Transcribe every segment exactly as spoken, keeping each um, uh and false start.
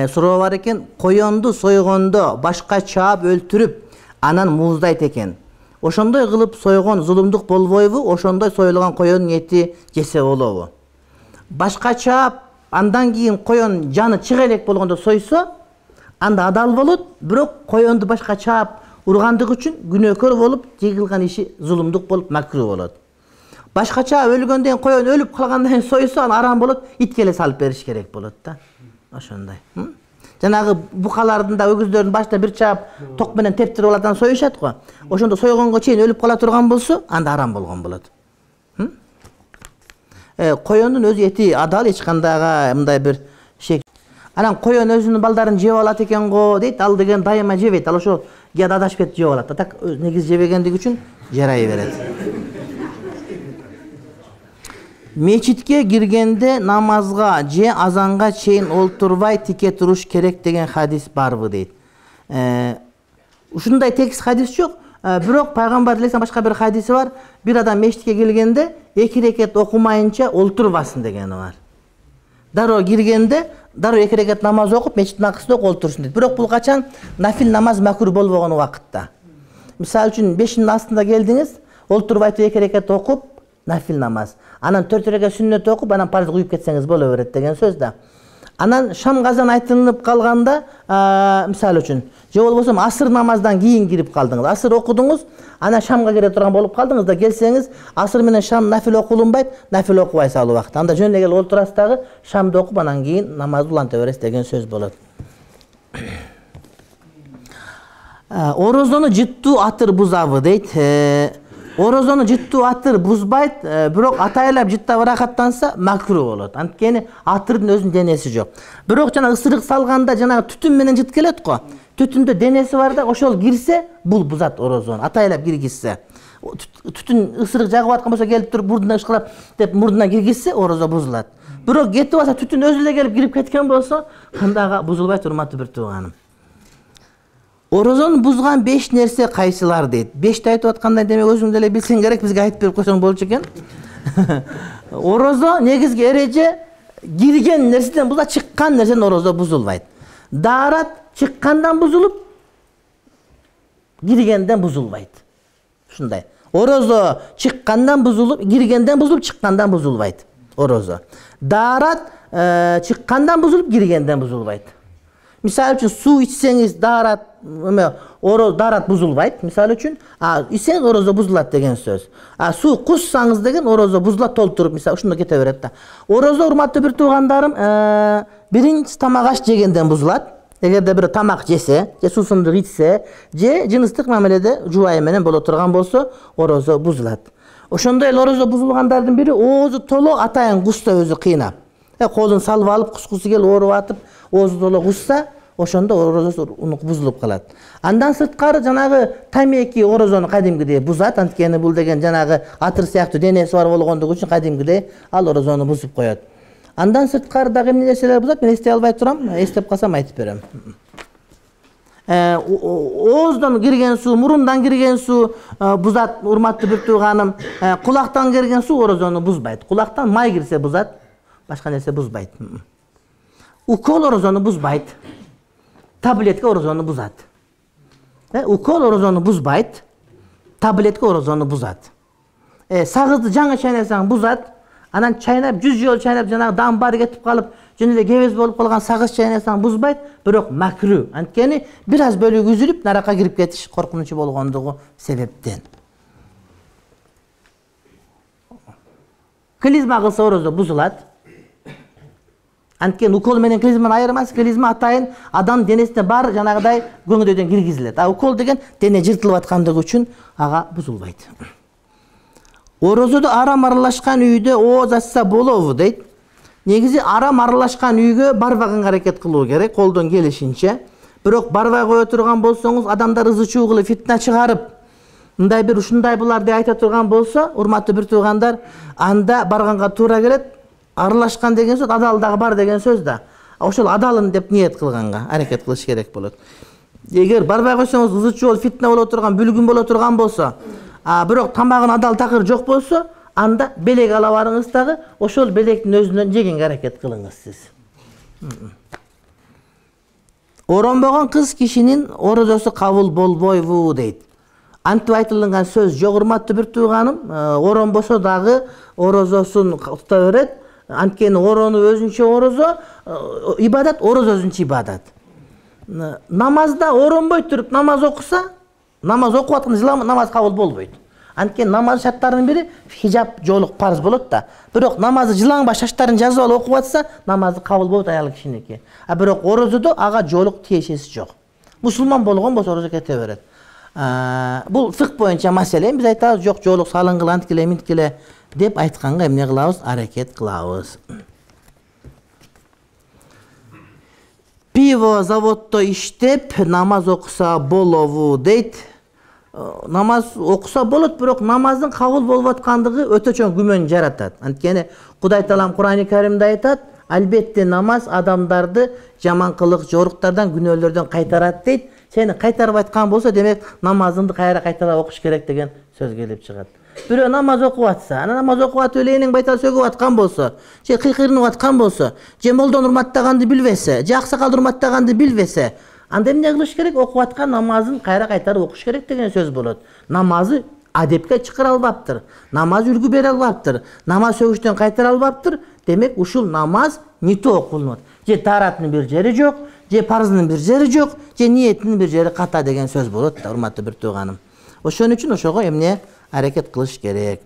суроо бар экен. Коёнду сойгондо башка чаап өлтүрүп, анан мууздайт экен. Ошондой кылып сойгон зулумдук болбойбу? Ошондой союлган коёндун эти жесе болобу? Башка чаап андан кийин коён жаны чыга элек болгондо сойсо, анда адал болот, бирок коёнду башка чаап ургандыгы үчүн күнөөкөр болуп, жегилген иши зулумдук болуп, макруу болот. Башкача өлгөндөн кийин коён өлүп калгандан кийин сойсо, аны арам болот, итке эле салып бериш керек болот да. Ошондой. Жанагы букалардын да өгүздөрдүн башында бир чаап ток менен тептирип алат, анан союшат го. Ошондо сойгонго чейин өлүп кала турган болсо, анда арам болгон болот. Э, коёндун өзү эти адал, эч кандайга мындай бир шек. Анан коён өзүнүн балдарын жеп алат экен го дейт, ал деген дайыма жебейт. Ал ошо кээде адашып кетип жеп алат. Так негиз жебегендиги үчүн жарай берет. Мечитке киргенде намазга же азанга чейин олтурбай тике туруш керек деген хадис барбы дейт. Э, ушундай текст хадис жок. Бирок пайгамбар алейхиссалам башка бир хадиси бар. Бир адам мечитке келгенде эки рекет окумайынча олтурбасын дегени бар. Дароо киргенде дароо эки рекет намаз окуп, мечиттин акысында олтурсун дейт. Бирок бул качан нафил намаз макруh болбогон убакытта. Мисалы үчүн бешинин астында келдиңиз, олтурбай эки рекет окуп, нафил намаз. Анан төрт рекет сүннөт окуп, анан парыз уюп кетсеңиз боло берет деген сөз да. Анан шам казан айтылып калганда, мисалы үчүн, же болбосо асыр намаздан кийин кирип калдыңыз. Асыр окудуңуз, анан шамга кире турган болуп калдыңыз да, келсеңиз, асыр менен шам нафил окулунбайт, нафил окубайсыз ал убакта. Анда жөн эле келип олтурасыз дагы, шамды окуп, анан кийин намазды уланта бересиз деген сөз болот. Орозону жыттуу атыр бузабы дейт. Орозону жыттуу атыр бузбайт, бирок атайлап жыттап ырахаттанса макруh болот. Анткени атырдын өзүнүн денеси жок. Бирок жана ысырык салганда жана түтүн менен жыт келет го. Түтүндө денеси бар да, ошол кирсе, бул бузат орозону. Атайлап киргизсе, түтүн ысырык жагып аткан болсо келип туруп мурдуна ышкырап деп мурдуна киргизсе, орозо бузулат. Бирок кетип алса, түтүн өзү эле келип кирип кеткен болсо, андага бузулбайт, урматтуу бир тууганым. Орозону бузган беш нерсе кайсылар дейт. бешти айтып аткандай демек өзүң деле билсең керек, бизге айтып берип койсоң болчу экен. Орозо негизги эреже кирген нерседен буза, чыккан нерседен орозо бузулбайт. Даарат чыккандан бузулуп, киргенден бузулбайт. Ушундай. Орозо чыккандан бузулуп, киргенден бузулуп, чыккандан бузулбайт. Орозо. Даарат чыккандан бузулуп, киргенден бузулбайт. Мисалы үчүн суу ичсеңиз даарат, эме, ороз даарат бузулбайт, мисалы үчүн, а ичсеңиз орозо бузулат деген сөз. А суу куссаңыз деген орозо бузулат толтуруп, мисалы ушунда кете берет да. Орозо, урматтуу бир туугандарым, биринчи тамак аш жегенден бузулат. Эгерде бир тамак жесе, же суусундук ичсе, же жыныстык мамиледе жубайы менен боло турган болсо, орозо бузулат. Ошондой эле орозо бузулгандардын бири оозу толо атайын кусса өзү кыйнап. Э колун салып алып, кускусу келип ооруп атып, оозу толо кусса, ошондо орозосу бузулуп калат. Андан сырткары жанагы тамеки орозону кадимгидей бузат, анткени бул деген жанагы атыр сыяктуу денеси бар болгондугу үчүн кадимгидей ал орозону бузуп коет. Андан сырткары дагы эмне нерселер бузат, мен эстей албай турам, эстеп калсам айтып берем. Э ооздон кирген суу, мурундан кирген суу бузат, урматтуу бир тууганым. Кулактан кирген суу орозону бузбайт. Кулактан май кирсе бузат, башка нерсе бузбайт. Укол орозону бузбайт. Таблетка орозону бузат. Э, укол орозону бузбайт. Таблетка орозону бузат. Э, сагызды жаңы чайнасаң бузат. Анан чайнап, жүз жолу чайнап, жанагы дам баары кетип калып, жөн эле кебез болуп калган сагыз чайнасаң бузбайт, бирок макруh. Анткени бир аз бөлүгү үзүлүп, наракка кирип кетиш коркунучу болгондугу себептен. Клизма кылса орозо бузулат. Анткени укол менен клизманы айырмас, клизма атайын адам денесине бар жанагыдай көңдөйдөн киргизилет. А укол деген дене жыртылып аткандыгы үчүн ага бузулбайт. Орозодо арам аралашкан үйдө ооз ачса болобу дейт. Негизи арам аралашкан үйгө барбаган аракет кылуу керек, колдон келишинче. Бирок барбай кое турган болсоңуз, адамдар ызы чуу кылып фитна чыгарып, мындай бир ушундай булар деп айта турган болсо, урматтуу бир туугандар, анда барганга туура келет. Аралашкан деген сөз адал дагы бар деген сөз да. Ошол адалын деп ниет кылганга аракет кылыш керек болот. Эгер барбай койсоңуз, ызы чуу фитна боло турган, бүлгүн боло турган болсо, а бирок тамагын адал такыр жок болсо, анда белек ала барыңыз дагы, ошол белектин өзүнөн жегенге аракет кылыңыз сиз. Оронбогон кыз кишинин орозосу кабыл болбойбу дейт. Антип айтылган сөз жок, урматтуу бир тууганым, оронбосо дагы орозосун тута берет. Анткени орону өзүнчө орозо, ибадат, орозо өзүнчө ибадат. Намазда оронбой туруп намаз окуса, намаз окуп атканда намаз кабыл болбойт. Анткени намаз шарттарынын бири хижаб жоолук парыз болот да. Бирок намазды жылаңбай шаштарын жазып алып окуп атса, намазы кабыл болот аял кишиники. А бирок орозодо ага жоолук тиешеси жок. Мусулман болгон болсо орозо кете берет. Бул фикх боюнча маселе. Биз айтабыз, жок, жоолук салынгыла, анткиле, минткиле деп айтканга эмне кылабыз? Аракет кылабыз. Пиво заводдо иштеп намаз окуса болобу дейт. Намаз окуса болот, бирок намаздын кабыл болуп аткандыгы өтө чоң күмөн жаратат. Анткени Кудай Таалам Кур'ан-ы Каримде айтат, албетте намаз адамдарды жаманкылык, жоруктардан, күнөөлөрдөн кайтарат дейт. Сени кайтарып айткан болсо, демек намазыңды кайра кайталап окуш керек деген сөз келип чыгат. Бирөө намаз окуп атса, ана намаз окуп атып элейнин байтал сөгүп аткан болсо, же кыйкырынып аткан болсо, же молдон урматтаганды билбесе, же аксакалды урматтаганды билбесе, анда эмне кылыш керек? Окуп аткан намазын кайра кайтарып окуш керек деген сөз болот. Намазы адепке чакыра албаптыр. Намаз үлгү бере албаптыр. Намаз сөгүштөн кайтара албаптыр. Демек ушул намаз нито окулнот. Же тааратынын бир жери жок, же парыздын бир жери жок, же ниетинин бир жери ката деген сөз болот да, урматтуу бир тууганым. Ошон үчүн ошого эмне аракет кылыш керек.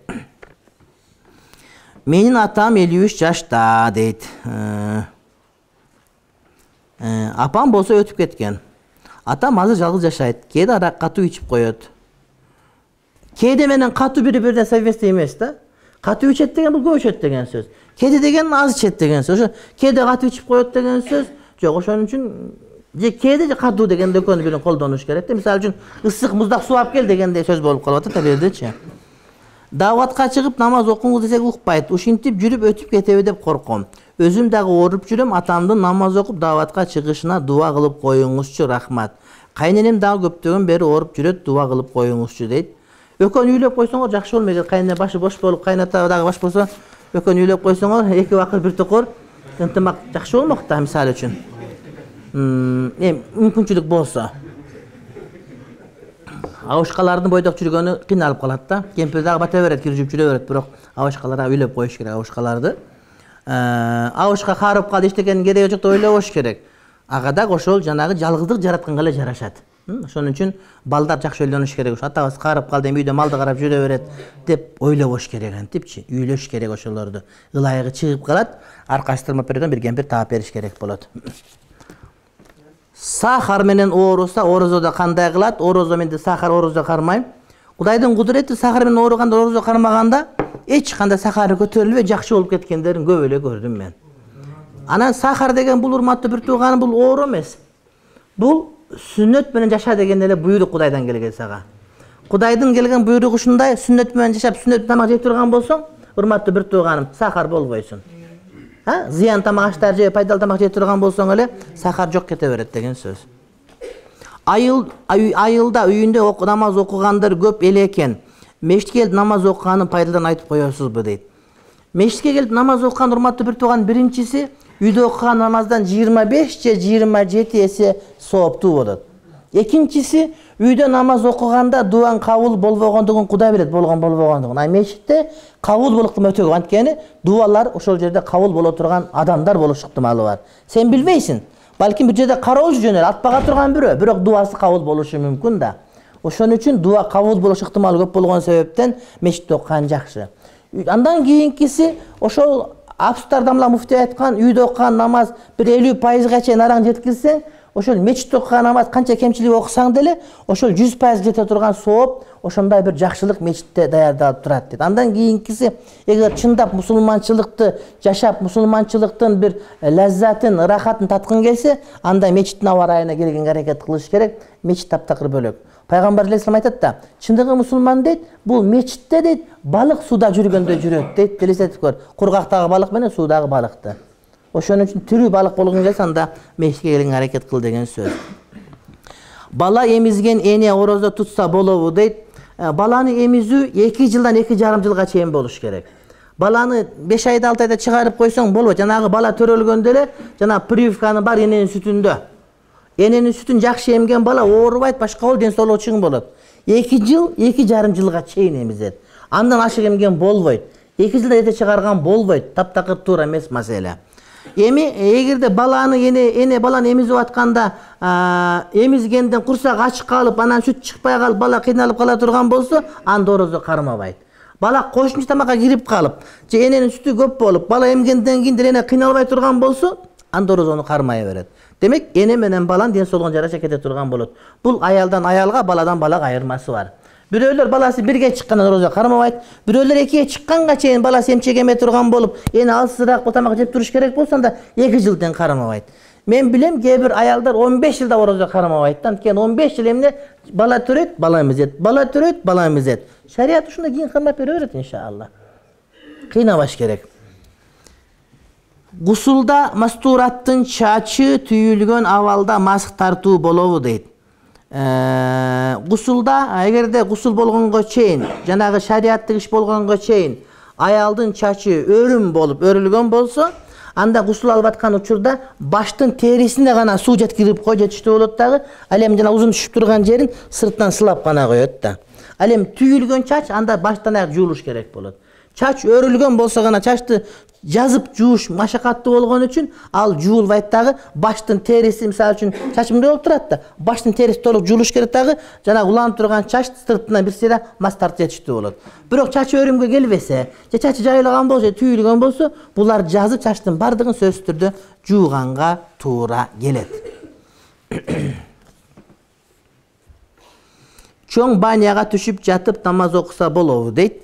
Менин атам элүү үч жашта дейт. Апам болсо өтүп кеткен. Атам азыр жалгыз жашайт. Кээде арак катуу ичип коет. Кээде менен катуу бири-бирине совместный эмес да. Катуу ичет деген бул көп ичет деген сөз. Кээде деген аз ичет деген сөз. Ошо кээде катуу ичип коет деген сөз жок. Ошон үчүн же кээде же катуу дегенде экөөнү бирин колдонуш керек да. Мисалы үчүн ысык муздак суу алып кел дегенде сөз болуп калып атат да бердечи. Даватка чыгып намаз окуңуз десек укпайт. Ушинтип жүрүп өтүп кетеби деп корком. Өзүм дагы ооруп жүрөм, атамдын намаз окуп даватка чыгышына дуа кылып коюңузчу, рахмат. Кайненем дагы көптөгөн бери ооруп жүрөт, дуа кылып коюңузчу дейт. Экөөнү үйлөп койсоңор жакшы болмойт. Кайнене башы бош болуп, кайната дагы баш болсо, экөөнү үйлөп койсоңор, эки убакыт бир токор ынтымак жакшы болмок да, мисалы үчүн. Эм мүмкүнчүлүк болсо. Абышкалардын бойдок жүргөнү кыйналып калат да. Кемпир дагы бата берет, киржип жүрө берет, бирок абышкаларга үйлөп коюш керек абышкаларды. Абышка карып калды, эчтекенин кереги жок деп ойлобош керек. Ага дагы ошол жанагы жалгыздык жаратканга эле жарашат. Ошон үчүн балдар жакшы ойлонуш керек. Ошо атабыз карып калды, эми үйдө малды карап жүрө берет деп ойлобош керек антипчи. Үйлөш керек ошолорду. Ылайыгы чыгып калат, аркачтырма переден бир кемпир таап бериш керек болот. Сахар менен ооруса, орозодо кандай кылат? Орозо менен сахар орозо кармайм. Кудайдын кудурети сахар менен ооруганда, орозо кармаганда эч кандай сахары көтөрүлбөй жакшы болуп кеткендерин көп эле көрдүм мен. Анан сахар деген бул урматтуу бир тууганым, бул оору эмес. Бул сүннөт менен жаша деген эле буйрук Кудайдан келген сага. Кудайдын келген буйругу ушундай, сүннөт менен жашап, сүннөт тамак жеп турган болсоң, урматтуу бир тууганым, сахар болбойсуң. Ha, ziyan tamak aştar je, пайдалуу тамак жеп турган болсоң эле, сахар жок кете берет деген сөз. Айыл айылда үйүндө намаз окугандар көп эле экен. Мешитке келип намаз окуганын пайдаларын айтып коесузбу дейт. Мешитке келип намаз окуган урматтуу бир тууган биринчиси үйдө окуган намаздан жыйырма беш же жыйырма жети эсе сооптуу болот. Экинчиси үйдө намаз окуганда дуаң кабыл болбогондугун Кудай билет, болгон болбогондугун. А мешитте кабыл болуктун өтө көп. Анткени дуалар ошол жерде кабыл боло турган адамдар болуш ыктымалы бар. Сен билбейсиң. Балким бир жерде кароолчу жөнөр, атпага турган бирөө, бирок дуасы кабыл болушу мүмкүн да. Ошон үчүн дуа кабыл болуш ыктымалы көп болгон себептен мешитте окуган жакшы. Андан кийинкиси ошол Амстердамда муфтий айткан үйдө окуган намаз бир элүү пайызга чейин араң жеткизсең, ошол мечитте окуган намаз канча кемчилик окусаң деле, ошол жүз пайыз жете турган сооп, ошондой бир жакшылык мечитте даярдалып турат дейт. Андан кийинкиси, эгер чындап мусулманчылыкты жашап, мусулманчылыктын бир лаззатын, рахатын таткың келсе, анда мечиттин аба ырайына келгенге аракет кылыш керек. Мечит таптакыр бөлөк. Пайгамбар алейхиссалам айтат да, чындыгы мусулман дейт, бул мечитте дейт, балык суда жүргөндө жүрөт дейт. Елестетип көр. Кургактагы балык менен суудагы балыкты. Ошон үчүн тирүү балык болгоң келсе, анда мешитке келгенге аракет кыл деген сөз. Бала эмизген эне орозо тутса болобу дейт. Баланы эмизүү эки жылдан эки жарым жылга чейин болуш керек. Баланы беш айда алты айда чыгарып койсоң болбойт. Жанагы бала төрөлгөндө эле, жана прививканы бар эненин сүтүндө. эненин сүтүн жакшы эмген бала оорубайт, башка болот, ден соолугу чың болот. эки жыл, эки жарым жылга чейин эмизет. Андан ашык эмген болбойт. эки жылда эте чыгарган болбойт. Таптакыр туура эмес маселе. Эми эгерде баланы эне эне баланы эмизип атканда эмизгенден курсак ачык калып, анан сүт чыкпай калып, бала кыйналып кала турган болсо, анда орозо кармабайт. Бала кошумча тамакка кирип калып, же эненин сүтү көп болуп, бала эмгенден кийин деле эне кыйналбай турган болсо, анда орозону кармай берет. Демек, эне менен баланын ден соолугун жараша кете турган болот. Бул аялдан аялга, баладан балага айырмасы бар. Бирөөлөр баласы бирге чыккандан орозо кармабайт, бирөөлөр экиге чыкканга чейин баласы эмчек эме турган болуп, эне алсызыраак бул тамак жеп туруш керек болсо, анда эки жылдан кармабайт. Мен билем, кээ бир аялдар он беш жылда орозо кармабайт. Анткени он беш жыл эмне бала төрөйт, бала эмизет, бала төрөйт, бала эмизет. Шарият ушундай кийин кармап бере берет иншалла. Кыйнабаш керек. Гусулда мастураттын чачы түйүлгөн абалда маск тартуу болобу дейт. Гусулда, эгерде гусул болгонго чейин, жанагы шариаттык иш болгонго чейин аялдын чачы өрүм болуп өрүлгөн болсо, анда гусул алып аткан учурда баштын терисине гана суу жеткирип кой жетиштүү болот дагы, ал эми жана узун түшүп турган жерин сырттан сылап гана коет да. Ал эми түйүлгөн чач анда баштан аяк жуулуш керек болот. Чач өрүлгөн болсо гана чачты жазып жууш машакаттуу болгон үчүн ал жуулбайт дагы, баштын териси мисалы үчүн чач мындай болуп турат да, баштын териси толук жуулуш керек дагы, жана уланып турган чач сыртынан бир сыйра мас тартып жетиштүү болот. Бирок чачы өрүмгө келбесе, же чачы жайылаган болсо, түйүлгөн болсо, булар жазып чачтын бардыгын сөзсүз түрдө жууганга туура келет. Чоң баняга түшүп жатып намаз окуса болобу дейт.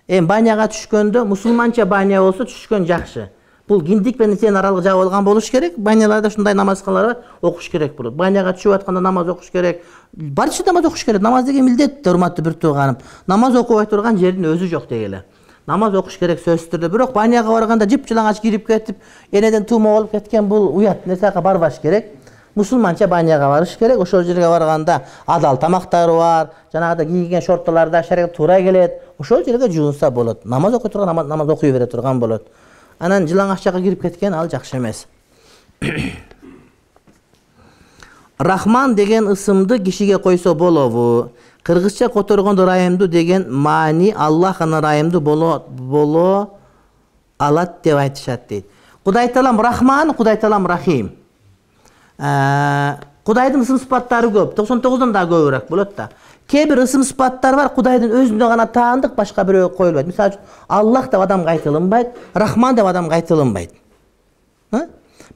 Эми баняга түшкөндө мусулманча баня болсо түшкөн жакшы. Бул киндик менен сен аралык жабып алган болуш керек. Баняларда ушундай намазкалар бар, окуш керек болот. Баняга түшүп атканда намаз окуш керек. Барча намаз окуш керек. Намаз деген милдет, урматтуу бир тууганым. Намаз окубай турган жердин өзү жок дегеле. Намаз окуш керек сөзсүз түрдө. Бирок баняга барганда жып-жылаңач кирип кетип, энеден тума болуп кеткен бул уят нерсеге барбаш керек. Мусулманча баняга барыш керек. Ошол жерге барганда адал тамактары бар, жанагыда кийген шортоларда шариат туура келет. Ошол жерге жуунса болот. Намаз окуй турган намаз, намаз окуй бере турган болот. Анан жылаңач жакка кирип кеткен ал жакшы эмес. Рахман деген ысымды кишиге койсо болобу? Кыргызча которгондо райымдуу деген маани Аллах аны райымдуу боло боло алат деп айтышат дейт. Кудай таалам Рахман, Кудай таалам Рахим. Кудайдын ысым сыпаттары көп, токсон тогуздан да көбүрөөк болот да. Кээ бир ысым сыпаттар бар, Кудайдын өзүнө гана таандык, башка бирөөгө коюлбайт. Мисалы үчүн Аллах деп адамга айтылынбайт, Рахман деп адамга айтылынбайт.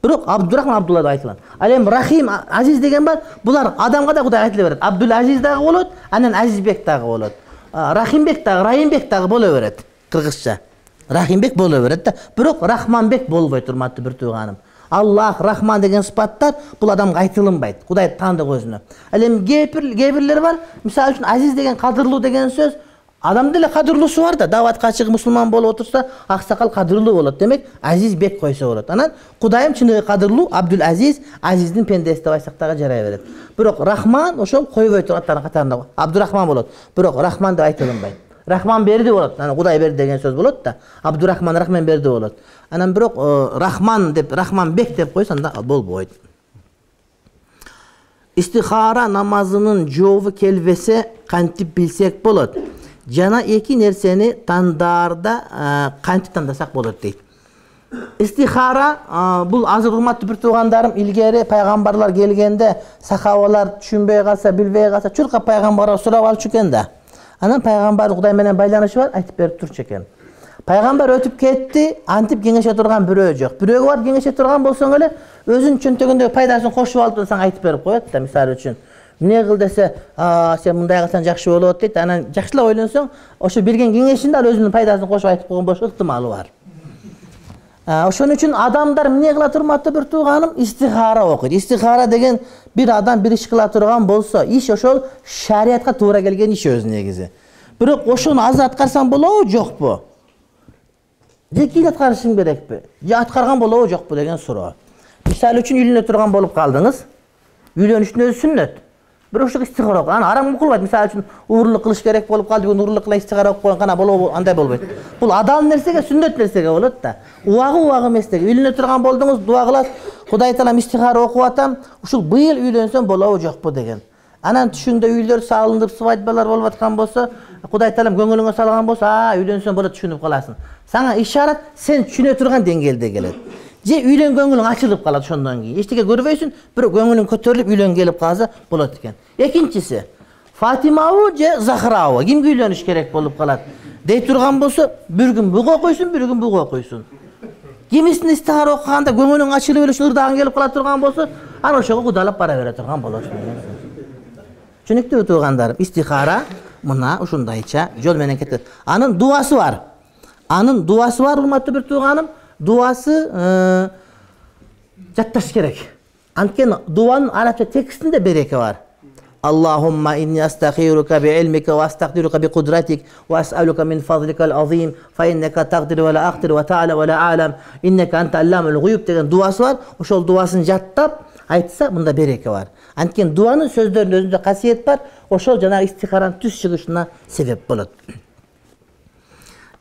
Бирок Абдурахман Абдулла деп айтылат. Ал эми Рахим, Азиз деген бар, булар адамга да Кудай айтыла берет. Абдул Азиз дагы болот, анан Азизбек дагы болот. Рахимбек дагы, Райымбек дагы боло берет кыргызча. Рахимбек боло берет да, бирок Рахманбек болбойт, урматтуу бир тууганым. Аллах, Рахман деген сыпаттар бул адамга айтылынбайт. Кудай таандык өзүнө. Ал эми кээ бирлер бар, мисалы үчүн Азиз деген, кадырлуу деген сөз, адам деле кадырлуусу бар да, даватка чыгып мусулман болуп отурса, аксакал кадырлуу болот. Демек, Азизбек койсо болот. Анан Кудайым чыныгы кадырлуу, Абдул Азиз, Азиздин пендеси деп айтсак дагы жарай берет. Бирок Рахман ошол койбой турган катарында Абдурахман болот. Бирок Рахман деп айтылынбайт. Рахман берди болот. Анан Кудай берди деген сөз болот да. Абдурахман Рахман берди болот. Анан бирок Рахман деп, Рахманбек деп койсо анда болбойт. Истихара намазынын жообу келбесе кантип билсек болот? Жана эки нерсени тандаарда кантип тандасак болот дейт. Истихара бул азыр урматтуу бир туугандарым, илгери пайгамбарлар келгенде сахабалар түшүнбөй калса, билбей калса, чурка пайгамбарга сурап алчу экен да. Анан пайгамбар Кудай менен байланышы бар, айтып берип турчу экен. Пайгамбар өтүп кетти, антип кеңеше турган бирөө жок. Бирөөгө барып кеңеше турган болсоң эле, өзүнүн чөнтөгүндөгү пайдасын кошуп алып турсаң айтып берип коет да, мисалы үчүн. Эмне кыл десе, "А, сен мындай кылсаң жакшы болот" дейт. Анан жакшылап ойлонсоң, ошо берген кеңешинде ал өзүнүн пайдасын кошуп айтып койгон болуш ыктымалы бар. Ошон үчүн адамдар эмне кыла турматтуу бир тууганым, истихара окуйт. Истихара деген бир адам бир иш кыла турган болсо, иш ошол шариатка туура келген иш өзү негизи. Бирок ошону азыр аткарсаң болобу, жокпу? Же кийин аткарышың керекпи? Же аткарган болобу, жокпу деген суроо. Мисалы үчүн үйлөнө турган болуп калдыңыз. Үйлөнүштүн өзү сүннөт. Бирок ошо истихара окуп, анан арам кылбайт. Мисалы үчүн уурулук кылыш керек болуп калды, бүгүн уурулук кыла истихара окуп койгон, кана болобу, андай болбойт. Бул адал нерсеге, сүннөт нерсеге болот да. Убагы убагы эмес деги. Үйлөнө турган болдуңуз, дуа кыласыз. Кудай таалам истихара окуп атам, ушул быйыл үйлөнсөм болобу жокпу деген. Анан түшүңдө үйлөр салынып, свадьбалар болуп аткан болсо, Кудай таалам көңүлүңө салган болсо, а үйлөнсөм болот түшүнүп каласың. Сага ишарат сен түшүнө турган деңгээлде келет. Же үйлөнгөнгүң ачылып калат ошондон кийин. Эчтеке көрбөйсүң, бирок көңүлүң көтөрүлүп үйлөнгө келип калса болот экен. Экинчиси, Фатимабы же Захрабы кимге үйлөнүш керек болуп калат. Дей турган болсо, бир күн буга окуйсуң, бир күн буга окуйсуң. Кимисин истихара окуганда көңүлүң ачылып эле ырдагың келип кала турган болсо, аны ошого кудалап бара бере турган болосуң. Түшүнүктүүбү туугандарым? Истихара мына ушундайча жол менен кетет. Анын дуасы бар. Анын дуасы бар, урматтуу бир тууганым. Дуасы жатташ керек. Анткени дуанын арабча текстинде береке бар. Аллахумма инни астагфирука би илмика ва астагдирука би кудратик ва ас'алука мин фазликал азим фа иннека тагдир ва ла ақтир ва та'ала ва ла а'лам иннека анта алламул гуйуб деген дуасы бар. Ошол дуасын жаттап айтса мында береке бар. Анткени дуанын сөздөрүнүн өзүндө касиет бар. Ошол жанагы истихаранын түз чыгышына себеп болот.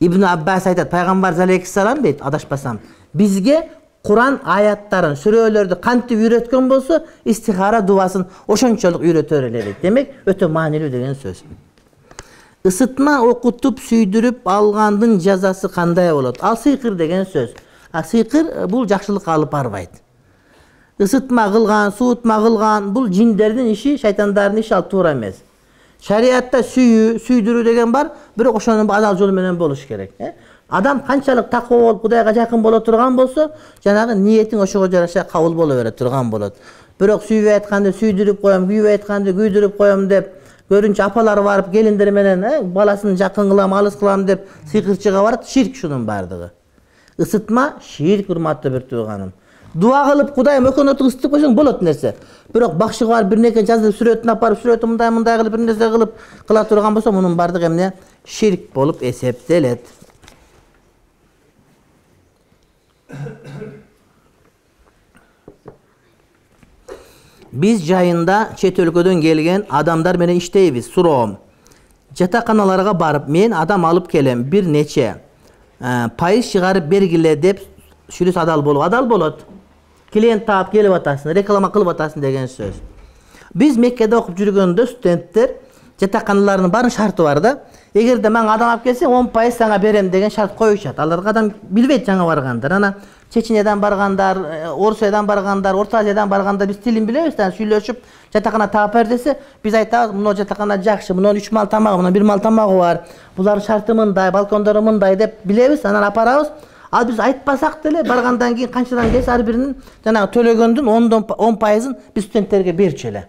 Ибн Аббас айтат, пайгамбар алейхиссалам дейт, адашпасам, бизге Куран аяттарын, сүрөлөрдү кантип үйрөткөн болсо, истихара дуасын ошончолук үйрөтөр эле дейт. Демек, өтө маанилүү деген сөз. Исытма окутуп сүйдүрүп алгандын жазасы кандай болот? Ал сыйкыр деген сөз. А сыйкыр бул жакшылыкка алып барбайт. Isıtma kılgan, soğutma kılgan, bu cinlerinin işi, şeytanların işi al tuğra emez. Şariatta süyü, süydürü degen var, bирок ошонун адал жол менен болуш керек. Адам канчалык таква болуп, Кудайга жакын боло турган болсо, жанагы ниетиң ошого жараша кабыл боло бере турган болот. Бирок сүйүп айтканды сүйдүрүп коем, күйүп айтканды күйдүрүп коем деп, көрүнчү апалар барып келиндер менен баласын жакын кылам, алыс кылам деп сыйкырчыга барат, ширк шунун бардыгы. Isıtma ширк, урматтуу бир тууганым. Дуа кылып Кудай мөкөнөтү ысытып койсоң болот нерсе. Бирок бакчыга барып бир нерсе жазып сүрөтүн апарып, сүрөтү мындай мындай кылып бир нерсе кылып кыла турган болсо, мунун бардыгы эмне? Ширк болуп эсептелет. Биз жайында чет өлкөдөн келген адамдар менен иштейбиз. Суроом. Жатаканаларга барып, мен адам алып келем, бир нече пайыз чыгарып бергиле деп сүйлөс адал болуп, адал болот. Клиент таап келип атасың, реклама кылып атасың деген сөз. Биз Меккеде окуп жүргөндө студенттер жатаканаларынын баарын шарты бар да. Эгерде мен адам алып келсең, он пайыз сага берем деген шарт коюшат. Аларга адам билбейт жаңа баргандар. Ана Чечениядан баргандар, Орусиядан баргандар, Орто Азиядан баргандар биз тилин билебиз да, сүйлөшүп жатакана таап бер десе, биз айтабыз, мына жатакана жакшы, мына үч мал тамагы, мына бир мал тамагы бар. Булардын шарты мындай, балкондору мындай деп билебиз, анан апарабыз. Ал биз айтпасак деле баргандан кийин канчадан келсе ар биринин жанагы төлөгөндүн он пайызын биз студенттерге берчү эле.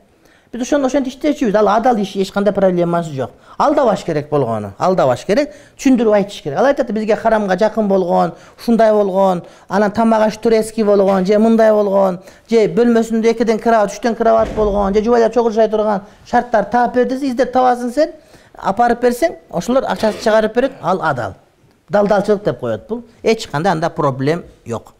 Биз ошондо ошентип иштечүбүз. Ал адал иш, эч кандай проблемасы жок. Алдабаш керек болгону, алдабаш керек, түшүндүрүп айтыш керек. Ал айтат, бизге харамга жакын болгон, ушундай болгон, анан тамак аш турецкий болгон, же мындай болгон, же бөлмөсүндө экиден кровать, үчтөн кровать болгон, же жубайлар чогулушай турган шарттар таап бер десе, издеп табасың сен, апарып берсең, ошолор акчасын чыгарып берет, ал адал. Далдалчылык деп коет бул. Эч кандай анда проблем жок.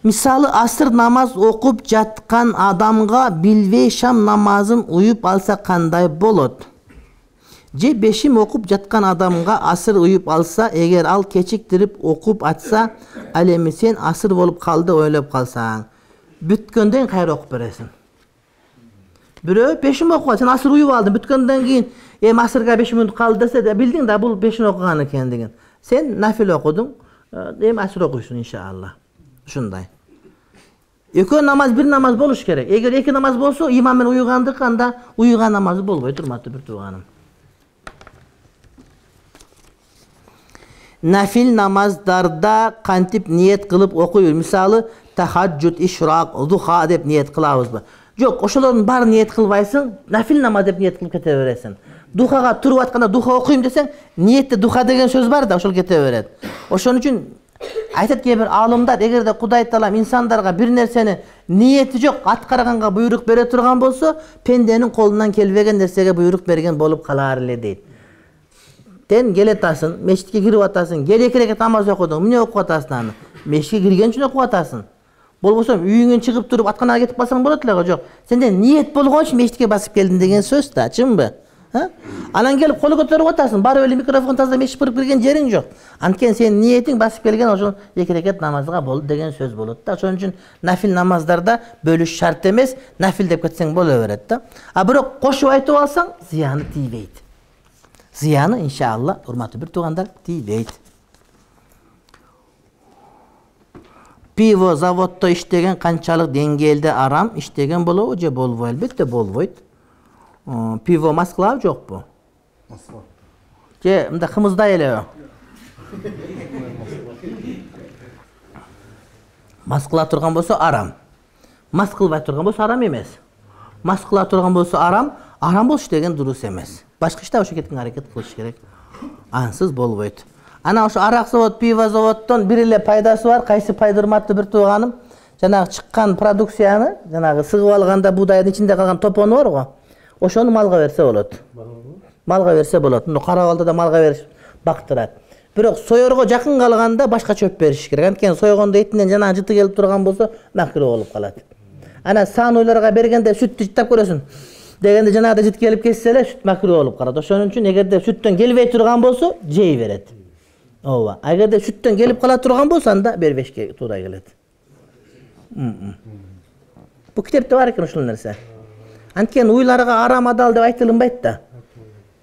Мисалы, асыр намаз окуп жаткан адамга билбей шам намазын уюп алса кандай болот? Же бешим окуп жаткан адамга асыр уюп алса, эгер ал кечиктирип окуп атса, ал эми сен асыр болуп калды ойлоп калсаң, бүткөндөн кайра окуп бересиң. Бирөө бешим окуп, сен асыр уюп алдың, бүткөндөн кийин эми асырга беш мүнөт калды десе, билдиң да бул бешин окуган экендигин. Сен нафил окудуң, эми асыр окуйсуң иншалла. Ушундай. Экөө намаз бир намаз болуш керек. Эгер эки намаз болсо, имам менен уюгандык анда уюган намазы болбойт, урматтуу бир тууганым. Нафил намаздарда кантип ниет кылып окуйбуз? Мисалы, тахаджуд, ишрак, духа деп ниет кылабызбы? Жок, ошолордун баарын ниет кылбайсың, нафил намаз деп ниет кылып кете бересиң. Духага туруп атканда духа окуйм десең, ниетте духа деген сөз бар да, ошол кете берет. Ошон үчүн айтат кээ бир аалымдар, эгерде Кудай таалам инсандарга бир нерсени ниети жок аткарганга буйрук бере турган болсо, пенденин колунан келбеген нерсеге буйрук берген болуп калар эле дейт. Сен келе атасың, мешитке кирип атасың, кел эки рекет намаз окудуң, эмне окуп атасың аны? Мешитке кирген үчүн окуп атасың. Болбосо үйүңөн чыгып туруп атканага кетип калсаң болот эле го, жок. Сенде ниет болгон үчүн мешитке басып келдиң деген сөз да, чынбы? Анан келип кол көтөрүп атасың, барып эле микрофон таза мешит кырып кирген жериң жок. Анткени сенин ниетиң басып келген ошол эки рекет намазга болду деген сөз болот да. Ошон үчүн нафил намаздарда бөлүш шарт эмес, нафил деп кетсең боло берет да. А бирок кошуп айтып алсаң, зыяны тийбейт. Зыяны иншалла, урматтуу бир туугандар, тийбейт. Пиво заводдо иштеген канчалык деңгээлде арам иштеген болобу же болбойбу? Албетте болбойт. Пиво мас кылабы жокпу? Мас кылат. Же мындай кымыздай элеби? Мас кыла турган болсо арам. Мас кылбай турган болсо арам эмес. Мас кыла турган болсо арам, арам болуш деген дурус эмес. Башка иште ошо кеткен аракет кылыш керек. Ансыз болбойт. Ана ошо арак завод, пиво заводдон бир эле пайдасы бар. Кайсы пайда урматтуу бир тууганым? Жанагы чыккан продукцияны, жанагы сыгып алганда буудайдын ичинде калган топону бар го. Ошону малга берсе болот. Малга берсе болот. Мына карабалда да малга бериш бактырат. Бирок соерго жакын калганда башка чөп бериш керек. Анткени сойгондо этинен жанагы жыты келип турган болсо макруh болуп калат. Ана саануларга бергенде сүттү жыттап көрөсүң. Дегенде жанагы жыт келип кетсе эле сүт макруh болуп калат. Ошон үчүн эгерде сүттөн келбей турган болсо жей берет. Ооба. Эгерде сүттөн келип кала турган болсо анда бербешке туура келет. Бу китепте бар экен ушул нерсе. Анткени уйларга арам адал деп айтылынбайт да.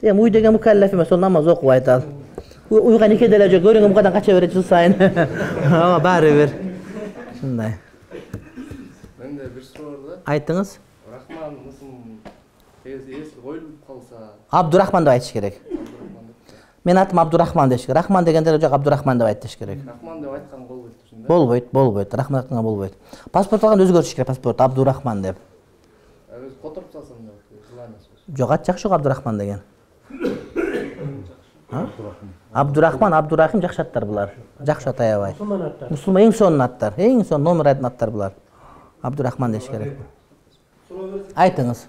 Эми уй деген мукаллаф эмес, ол намаз окубайт ал. Уйга нике деле жок, көрүнгөн мукадан кача берет жыл сайын. Ооба, баары бир. Ушундай. Менде бир суроо бар да. Айтыңыз. Рахман мусум эси коюлуп калса. Абдурахман деп айтыш керек. Мен атым Абдурахман деш керек. Рахман дегенде жок, Абдурахман деп айтыш керек. Рахман деп айткан болбойт ушунда. Болбойт, болбойт. Рахман айтканга болбойт. Паспорт алганда өзгөртүш керек, паспорт Абдурахман деп. Өз которуп салсам да кыланасыз. Жок, ат жакшы го Абдурахман деген. Абдурахман, Абдурахим жакшы аттар булар. Жакшы ат аябай. Мусулман эң сонун аттар, эң сонун номер айдын аттар булар. Абдурахман деш керек. Айтыңыз.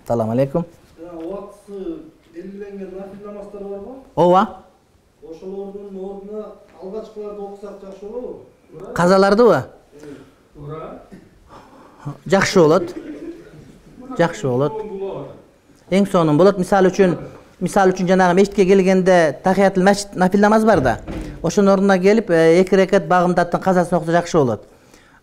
Салам алейкум. Убактысы белгиленген нафил намаздар барбы? Ооба. Ошолордун ордуна алгачкыларды окусак жакшы болобу? Казалардыбы? Туура. Жакшы болот. Жакшы болот. Эң сонун болот. Мисалы үчүн, мисалы үчүн жанагы мешитке келгенде тахиятул масжид нафил намаз бар да. Ошонун ордуна келип эки рекет багымдаттын казасын окуса жакшы болот.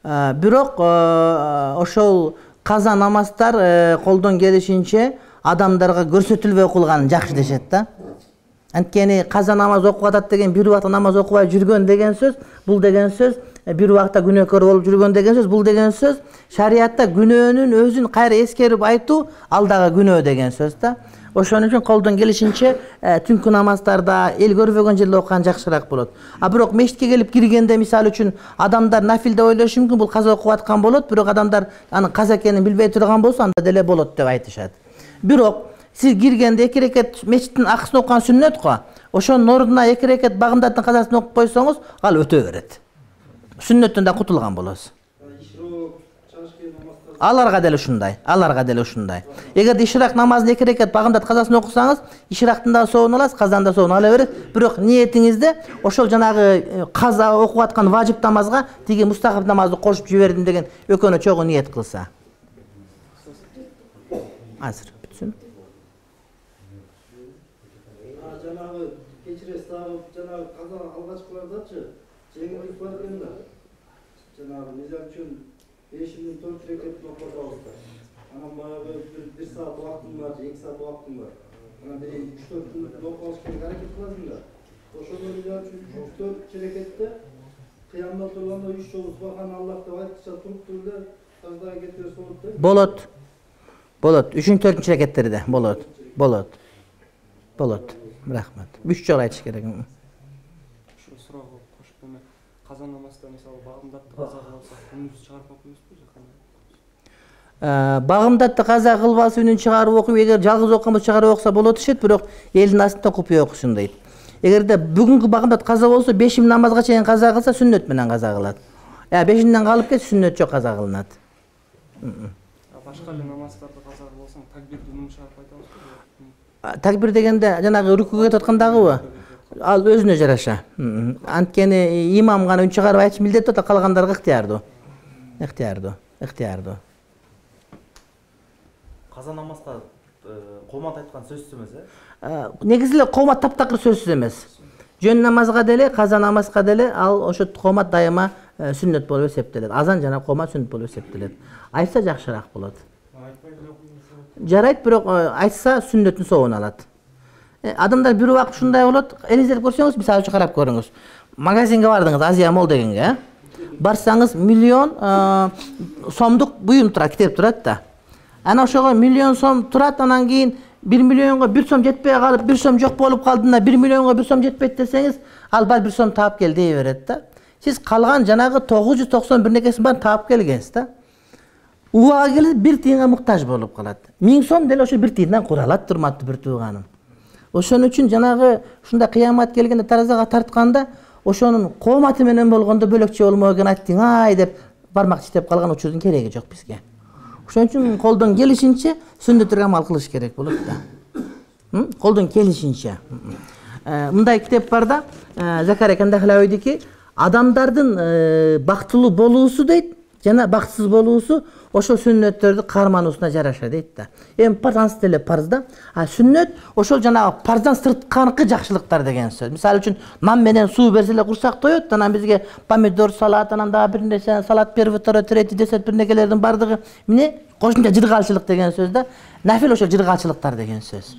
Бирок ошол каза намаздар колдон келишинче адамдарга көрсөтүлбөй окулган жакшы дешет да. Анткени каза намаз окуп атат деген бир убакта намаз окубай жүргөн деген сөз, бул деген сөз бир убакта күнөөкөр болуп жүргөн деген сөз, бул деген сөз шариатта күнөөнүн өзүн кайра эскерип айтуу ал дагы күнөө деген сөз да. Ошон үчүн колдон келишинче түнкү намаздарда эл көрбөгөн жерде окуган жакшыраак болот. А бирок мешитке келип киргенде мисалы үчүн адамдар нафил деп ойлошу мүмкүн, бул каза окуп аткан болот, бирок адамдар анын каза экенин билбей турган болсо анда деле болот деп айтышат. Бирок сиз киргенде эки рекет мешиттин акысын окуган сүннөт го. Ошонун ордуна эки рекет багымдаттын казасын окуп койсоңуз, ал өтө берет. Сүннөттөн да кутулган болосуз. Аларга деле ушундай, аларга деле ушундай. Эгерде ишрак намазын эки рекет багымдат казасын окусаңыз, ишрактын да соовун аласыз, казанын да соовун ала берет. Бирок ниетиңизде ошол жанагы каза окуп аткан важип намазга тиги мустахаб намазды кошуп жибердим деген экөөнө чогуу ниет кылса. Азыр бүтсүн. Жанагы кечиресиз, жанагы каза алгачкылардачы жеңилдик бар экен да. Жанагы мисалы үчүн бешинин төрт рекетин окуп алсак, анан баягы бир саат убактым бар, эки саат убактым бар. Анан бир үч төртүн окуп алыш керек аракет кыласың да. Ошондо мисалы үчүн үч төрт рекетте кыямда турганда үч жолу субхан Аллах деп айткыча туруп туруп эле саждага кете берсе болот да. Болот. Болот. үчүнчү төртүнчү рекеттерде болот. Болот. Болот. Рахмат. үч жолу айтыш керек. Ушул суроого кошуп эме каза намазда мисалы багымдатты каза кылса, күнүз чыгарып окуйбузбу же кандай? Багымдатты каза кылбасы үнүн чыгарып окуп, эгер жалгыз окуган болсо чыгарып окуса болот дешет, бирок элдин астында купуя окушун дейт. Эгерде бүгүнкү багымдат каза болсо, бешим намазга чейин каза кылса, сүннөт менен каза кылат. Я бешинден калып кетсе, сүннөт жок каза кылынат. Башка эле намаздарды каза кылсаң, такбирди үнүн чыгарып айтабызбы? Такбир дегенде жанагы рүкүгө кетип аткандагыбы? Ал өзүнө жараша. Анткени имам гана үн чыгарып айтыш милдеттүү, да калгандарга ыктыярдуу. Ыктыярдуу, ыктыярдуу. Каза намазга коомат айткан сөзсүз эмес э? Негизи эле коомат таптакыр сөзсүз эмес. Жөн намазга деле, каза намазга деле ал ошо коомат дайыма сүннөт болуп эсептелет. Азан жана коомат сүннөт болуп эсептелет. Айтса жакшыраак болот. Жарайт, бирок айтса сүннөттүн соогун алат. Адамдар бир убак ушундай болот. Элестетип көрсөңүз, мисалы үчүн карап көрүңүз. Магазинге бардыңыз, Азия Мол дегенге, барсаңыз миллион сомдук буюм турат, китеп турат да. Ана ошого миллион сом турат, анан кийин бир миллионго бир сом жетпей калып, бир сом жок болуп калдığında бир миллионго бир сом жетпейт десеңиз, ал бал бир сом таап кел дей берет да. Сиз калган жанагы тогуз жүз токсон бир некесин баарын таап келгенсиз да. Убага келип бир тыйынга муктаж болуп калат. миң сом деле ошо бир тыйындан куралат, урматтуу бир тууганым. Ошон үчүн жанагы ушундай кыямат келгенде таразага тартканда, ошонун кооматы менен болгондо бөлөкчө болмок экен айттың ай деп бармак тиштеп калган учурдун кереги жок бизге. Ошон үчүн колдон келишинче сүннөттөргө амал кылыш керек болот да. Колдон келишинче. Мындай китеп бар да, Закария Кандахлавийдики адамдардын бактылуу болуусу дейт, жана бактысыз болуусу ошол сүннөттөрдү кармануусуна жараша дейт да. Эми парз деле парз да. А сүннөт ошол жанагы парздан сыртканкы жакшылыктар деген сөз. Мисалы үчүн нан менен суу берсе эле курсак тоет, анан бизге помидор салат, анан дагы бир нерсе салат первый, второй, третий, десет бир нерселердин бардыгы эмне? Кошумча жыргалчылык деген сөз да. Нафил ошол жыргалчылыктар деген сөз.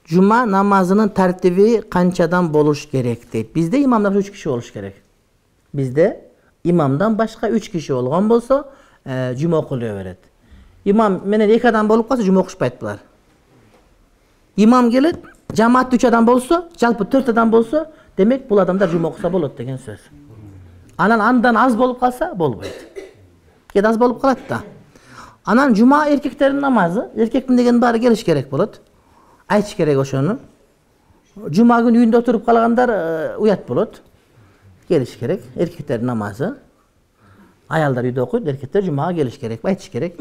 Жума намазынын тартиби канчадан болуш керек дейт. Бизде имамдар үч киши болуш керек. Бизде имамдан башка үч киши болгон болсо, жума окулуя берет. Имам менен эки адам болуп калса, жума окушпайт булар. Имам келет, жамаат үч адам болсо, жалпы төрт адам болсо, демек бул адамдар жума окуса болот деген сөз. Анан андан аз болуп калса, болбойт. Кээ аз болуп калат да. Анан жума эркектердин намазы, эркектин деген баары келиш керек болот. Айтыш керек ошону. Жума күнү үйүндө отуруп калгандар уят болот. Келиш керек. Эркектердин намазы. Аялдар үйдө окуйт, эркектер жумага келиш керек, айтыш керек.